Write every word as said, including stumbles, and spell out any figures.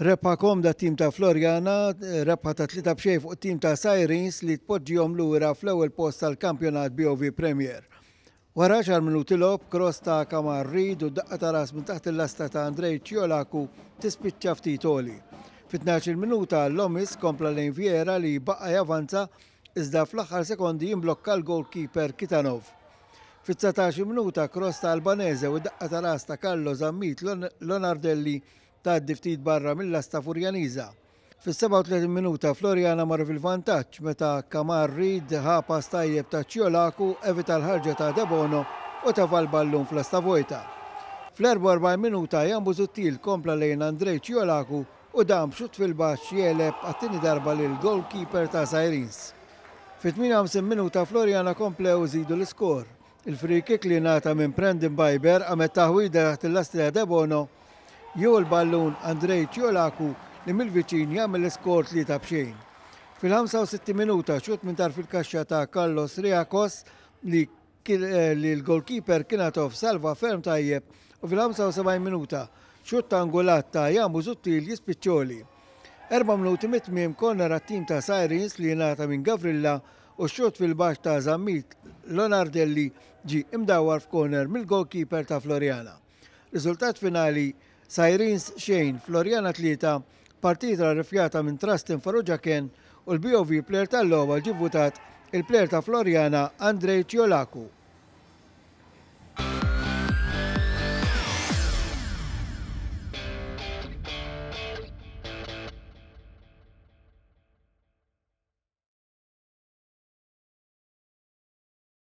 Rebħa komda tim ta' Floriana, rebħa ta' tlieta b'xejn fuq tim ta' Sirens li tpoġġihom lura fl-ewwel post tal-kampjonat B O V Premier. Wara għaxar minuti logħob, cross ta' Kamar Reid u daqqa ta' ras minn taħt il-lasta ta' Andrej Ciolacu tispiċċa ftit għoli. Fit-tnax-il minuta Lomis kompla lejn Viera li baqa' javanza, iżda fl-aħħar sekondi jimblokka l-goalkeeper Kitanov. Fit-dsatax-il minuta cross ta' Albanese u daqqa ta' ras ta' Carlo Zammit Lonardelli tgħaddi ftit barra mill-lasta Furjaniża. Fis-sebgħa u tletin minuta Floriana marru fil-vantaġġ meta Kamar Reid ħa pass tajjeb ta' Ciolacu, evita l-ħarġa ta' Debono u tefa' l-ballun fl-lasta vojta. Fl-erbgħa u erbgħin minuta Jan Busuttil kompla lejn Andrej Ciolacu u dan b'xut fil-baxx jegħleb għat-tieni darba lil goalkeeper ta' Sirens. Fit-tmienja u ħamsin minuta Floriana komplew żidu l-iskor. Il-free kick li ngħata minn Brandon Biber għamel taħwida taħt il-lasti ta' Debono jew il-ballun Andrej Ciolacu li mill-viċin jagħmel l-iskor tlieta b'xejn. Fil-ħamsa u sittin minuta xut minn tarf il-kaxxa ta' Carlos Riakos li eh, li l-goalkeeper Kinatov salva ferm tajjeb u fil-ħamsa u sebgħin minuta xutt angolat ta' Jan Busuttil jispiċċa għoli. Erba' minuti mit-tmiem corner għat-tim ta' Sirens li ngħata minn Gavrilla u xutt fil-baxx ta' Zammit Lonardelli ġi imdawar f'corner mill-goalkeeper ta' Floriana. Riżultat finali Sirens xejn, Floriana tlieta, partita rifjata minn Trustin Farrugia Ken u l-B O V player tal-logħba ġi votat il-player ta' Floriana Andrej Ciolacu.